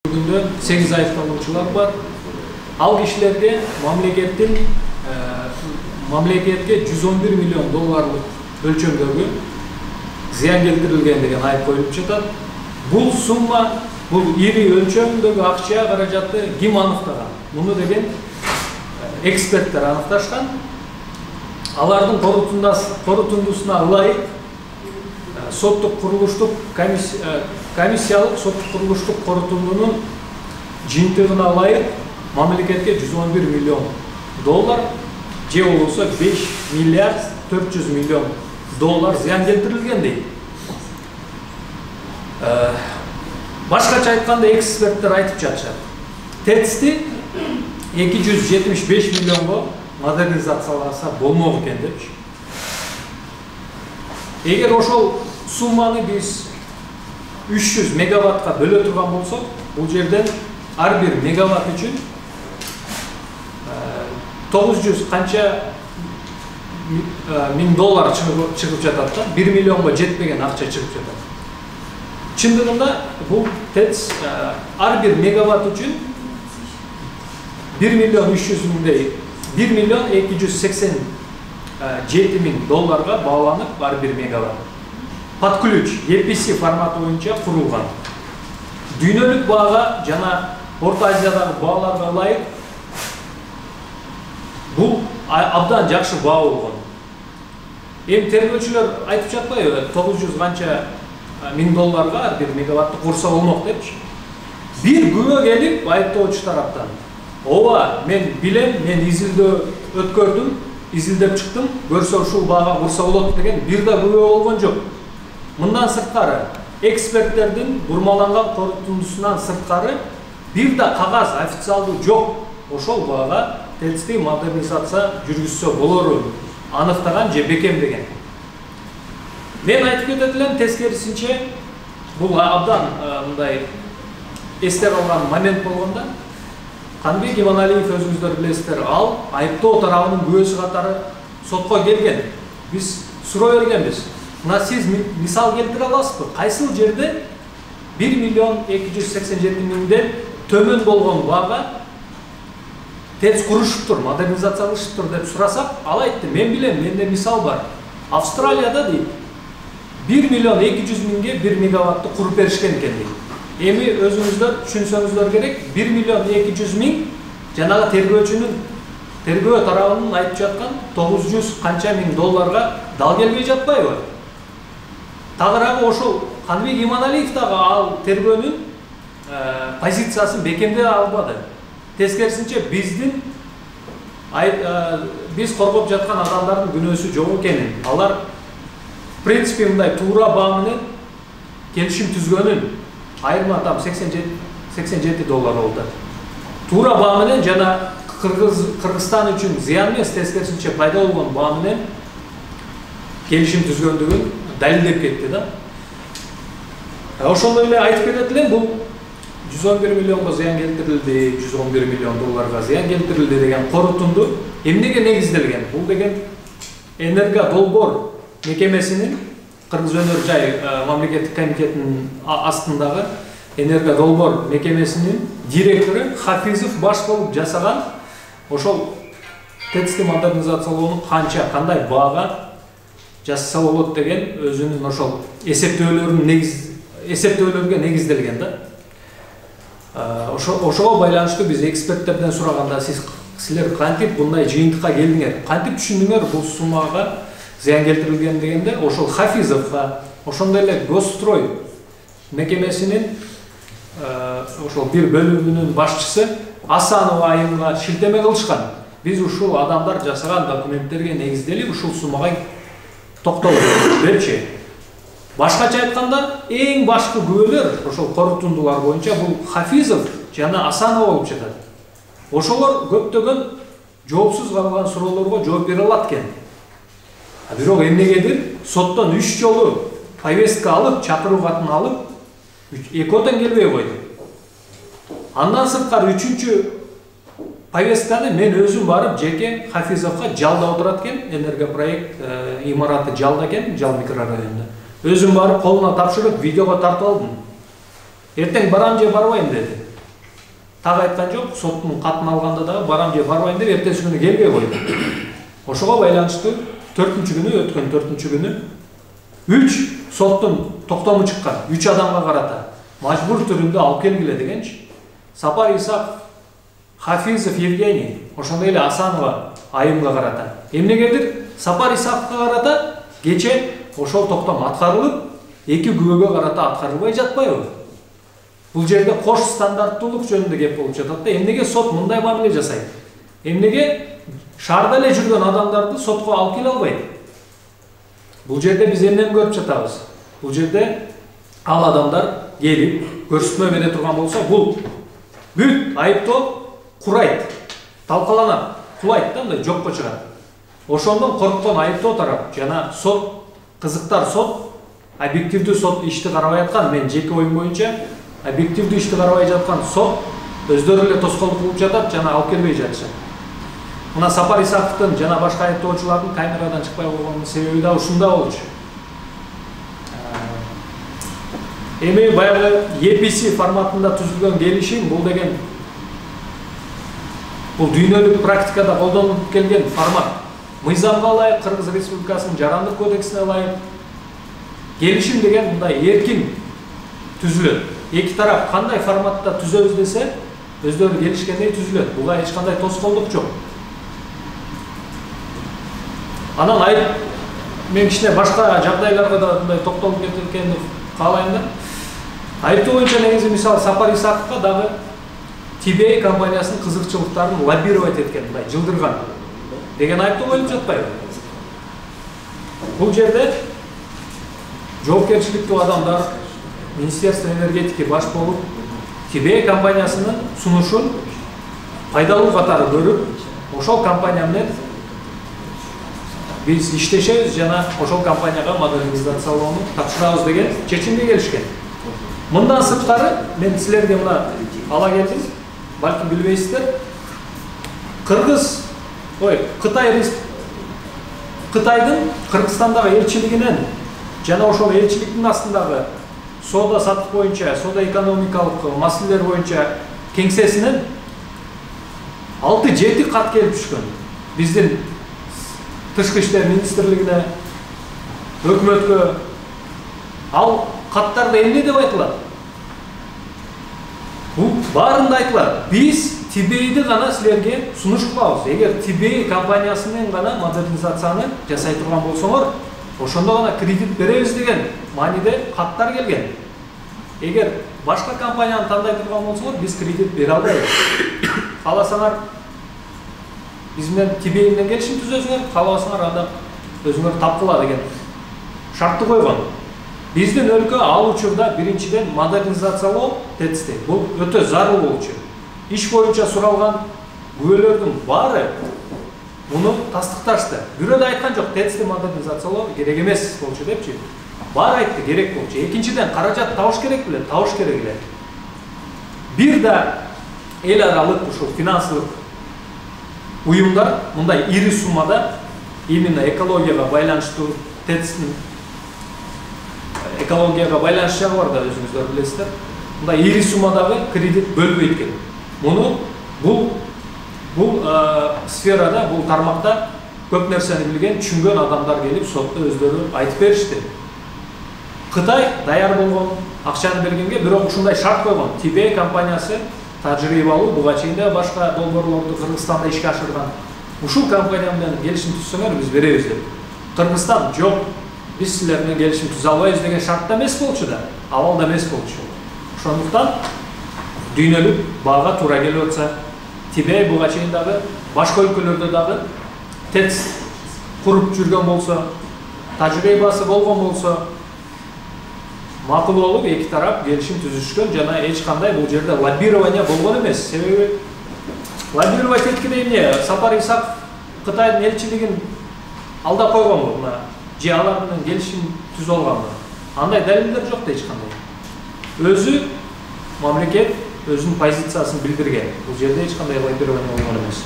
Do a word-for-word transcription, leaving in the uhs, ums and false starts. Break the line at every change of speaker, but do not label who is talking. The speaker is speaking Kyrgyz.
Бүгүндө сегиз айыпталуучулар бар. Ал кишилерге мамлекеттин мамлекетке жүз он бир миллион долларлык өлчөмдөгү зыян келтирилген деген айып коюлуп жатат. Бул сумма, бул ири өлчөмдөгү акча каражатты ким аныктаган? Муну деген эксперттер аныкташкан. Алардын корутундусуна ылайык соттук курулуштук комиссиялык соттук курулуштук корутундунун жыйынтыгына ылайык мамлекетке жүз он бир миллион доллар же болбосо беш миллиард төрт жүз миллион доллар зыян келтирилген дейт. Башкача айтканда эксперттер айтып жатышат. ТЭЦти эки жүз жетимиш беш миллионго модернизацияласа болмок экен депчи. Эгер ошол сумманы биз үч жүз мегаваттка бөлө турган болсок, бул жерден ар бир мегаватт үчүн тогуз жүз канча миң доллар чыгып жатат да, бир миллионго жетпеген акча чыгып жатат. Чындыгында бул ТЭЦ ар бир мегаватт үчүн бир миллион үч жүз миңдей, бир миллион эки жүз сексен жети миң долларга бааланып ар бир мегаватт. Под ключ E P C форматы боюнча курулган. Дүйнөлүк баага жана Орто Азиядагы бааларга ылайык бул абдан жакшы баа болгон. Эми тергөөчүлөр айтып жатпайбы, тогуз жүз канча миң долларга ар бир мегаватты курса болмок депчи. Бир күбө келип айыптоочу тараптан: "Ооба, мен билем, мен изилдөө өткөрдүм, изилдеп чыктым, көрсө ушул баага курса болот" деген бир да күбө болгон жок. Мындан сырткары, эксперттердин бурмаланган корутундусунан сырткары бир да кагаз официалдуу жок. Ошол баага ТЭЦти модернизация жүргүзсө болору аныктаган же бекемдеген. Мен айтып кетет элем, тескерисинче бул абдан мындай эсте калган момент болгондо, Каныбек Иманалиев өзүңүздөр билесиздер, ал айыптоо тарабынын күбөсү катары сотко келген. Биз суроо бергенбиз: "Мына сиз мисал келтире аласызбы? Кайсыл жерде бир миллион эки жүз сексен жети миңден төмөн болгон баага ТЭЦ курушуптур, модернизациялашыптыр" деп сурасак, ал айтты: "Мен билем, менде мисал бар. Австралияда дейт, бир миллион эки жүз миңге бир мегаватты куруп беришкен экен" дейт. Эми өзүңүздөр түшүнсөңүздөр керек, бир миллион эки жүз миң жанагы тергөөчүнүн тергөө тарабынын айтып жаткан тогуз жүз канча миң долларга дал келбей жатпайбы? Тагыраагы ошол Каныбек Иманалиев дагы ал тергөөнүн позициясын бекемдей албады. Тескерисинче биздин биз коргоп жаткан адамдардын күнөөсү жок экенин, алар в принципе мындай туура баа менен келишим түзгөнүн, айырма там сексен жети доллар болду. Туура баа менен жана Кыргызстан үчүн зыян эмес, тескерисинче пайда болгон баа менен келишим түзгөндүгүн далилдеп кетти да. Ошондой эле айтып кетет элем, бул жүз он бир миллионго зыян келтирилди, жүз он бир миллион долларга зыян келтирилди деген корутунду эмнеге негизделген? Бул деген Энергодолбор мекемесинин, Кыргыз өнөр жай мамлекеттик комитетинин астындагы Энергодолбор мекемесинин директору Хафизов баш болуп жасаган ошол ТЭЦти модернизациялоону канча, кандай баага жасаса болот деген өзүнүн ошол эсептөөлөрүн негиз эсептөөлөргө негизделген да. Ошого байланыштуу биз эксперттерден сураганда, сиз силер кантип мындай жыйынтыкка келдиңер, кантип түшүндүңөр бул суммага зыян келтирилген дегенде, ошол Хафизовго, ошондой эле Госстрой мекемесинин ошол бир бөлүмүнүн башчысы Асанова айымга шилтеме кылышкан. Биз ушул адамдар жасаган документтерге негизделип ушул суммага токтолуп депчи. Башкача айтканда, эң башкы күбөлөр ошол корутундулар боюнча бул Хафизов жана Асанова болуп жатат. Ошолор көптөгөн жоопсуз калган суроолорго жооп бере алат экен. А бирок эмнегедир соттон үч жолу повестка алып, чакыруу катын алып, экөөтөн келбей койду. Андан сырткары үчүнчү повестканы мен өзүм барып жеке Хафизовго жалда отурат экен, энергопроект имараты жалда экен, Жал микрорайонунда. Өзүм барып колуна тапшырып, видеого тартып алдым. Эртең барам же барбайм деди. так айткан жок, соттун катын алганда дагы барам же барбайм деп эртеси күнү келбей койду. Ошого байланыштуу төртүнчү күнү, өткөн төртүнчү күнү үч соттун токтому чыккан, үч адамга карата мажбур түрүндө алып келгиле дегенчи. Сапар Исаков, Хафизов Евгений, ошондой эле Асанова айымга карата. Эмнегедир Сапар Исаковго карата кече ошол токтом аткарылып, эки күбөгө карата аткарылбай жатпайбы? Бул жерде кош стандарттуулук жөнүндө кеп болуп жатат да. Эмнеге сот мындай мамиле жасайт? Эмнеге шаарда эле жүргөн адамдарды сотко алып келе албайт? Бул жерде биз эмнени көрүп жатабыз? Бул жерде ал адамдар келип көрсөтмө бере турган болсо, бул бүт айыптоо курайт, талкаланат, кулайт да, мындай жокко чыгат. Ошондон корккон айыптоо тарап жана сот, кызыктар сот, объективдүү сот ишти карабай аткан, мен жеке оюм боюнча объективдүү ишти карабай жаткан сот өздөрү эле тоскоолдук кылып жатат жана алып келбей жатышат. Мына Сапар Исаковдун жана башка айыптоочулардын камерадан чыкпай койгонунун себеби да ушунда болчу. Эми баягы E P C форматында түзүлгөн келишим, бул деген бул дүйнөлүк практикада колдонулуп келген формат. Мыйзамга ылайык, Кыргыз Республикасынын Жарандык кодексине ылайык келишим деген мындай эркин түзүлөт. Эки тарап кандай форматта түзөбүз десе, өздөрү келишкендей түзүлөт. Буга эч кандай тоскоолдук жок. Анан айып мен кичине башка жагдайларга да мындай токтолуп кеткенди каалайм да. Айыптоо боюнча негизи мисалы Сапар Исаковго дагы T B A компаниясынын кызыкчылыктарын лоббировать эткен, мындай жылдырган деген айыптоо коюлуп жатпайбы? Бул жерде жоопкерчиликтүү адамдар, Министерство энергетики баш болуп, T B A компаниясынын сунушун пайдалуу катары көрүп, ошол компания менен биз иштешебиз жана ошол компанияга модернизациялоону тапшырабыз деген чечимге келишкен. Мындан сырткары мен силерге мына ала келдим, балким билбейсиздер. Кыргыз, ой, Кытай Кытайдын Кыргызстандагы элчилигинен жана ошол элчиликтин астындагы соода саттык боюнча, соода экономикалык маселелер боюнча кеңсесинен алты жети кат келип түшкөн. Биздин Тышкы иштер министрлигине, өкмөткө ал каттарда эмне деп айтылат? Бул баарында айтылат. Биз T B A'ды гана силерге сунуш кылабыз. Эгер T B A компаниясынын гана модернизацияны жасай турган болсоңор, ошондо гана кредит беребиз деген мааниде каттар келген. Эгер башка компанияны тандай турган болсоңор, биз кредит бере албайбыз. Кааласаңар биз менен T B A менен келишим түзөсүңөр, каалабасаңар анда өзүңөр тапкыла деген шартты койгон. Биздин өлкө ал учурда биринчиден модернизациялоо тетисти. Бул өтө зарыл болчу. Иш боюнча суралган күбөлөрдүн баары муну тастыкташты. Бирөө да айткан жок, тетисти модернизациялоо керек эмес болчу депчи. Баары айтты, керек болчу. Экинчиден каражат табыш керек беле, табыш керек эле. Бир да эл аралык ушул финансылык уюмдар мындай ири суммада именно экологияга байланыштуу тетистин экологияга байланыш жагы бар да, өзүңүздөр билесиздер. Мындай ири суммадагы кредит бөлбөйт экен. Муну бул бул сферада, бул тармакта көп нерсени билген, түшүнгөн адамдар келип сотто өздөрү айтып беришти. Кытай даяр болгон, акчаны бергенге, бирок ушундай шарт койгон. T B A компаниясы тажрыйбалуу, буга чейин да башка долбоорлорду Кыргызстанда ишке ашырган. Ушул компания менен келишим түзсөңөр биз беребиз деп. Кыргызстан жок, биз силер менен келишим түзө албайбыз деген шартта эмес болчу да, абалда эмес болчу. Ошондуктан дүйнөлүк баага туура келип атса, T B A буга чейин дагы башка өлкөлөрдө дагы тетис куруп жүргөн болсо, тажрыйбасы болгон болсо, макул болуп эки тарап келишим түзүшкөн жана эч кандай бул жерде лоббирование болгон эмес. Себеби лоббировать эткенде эмне? Сапар Исаков Кытайдын элчилигин алдап койгонбу, мына же алар менен келишим түзүп алганбы? Андай далилдер жок да эч кандай. Өзү мамлекет өзүнүн позициясын билдирген. Бул жерде эч кандай лоббирование болгон эмес.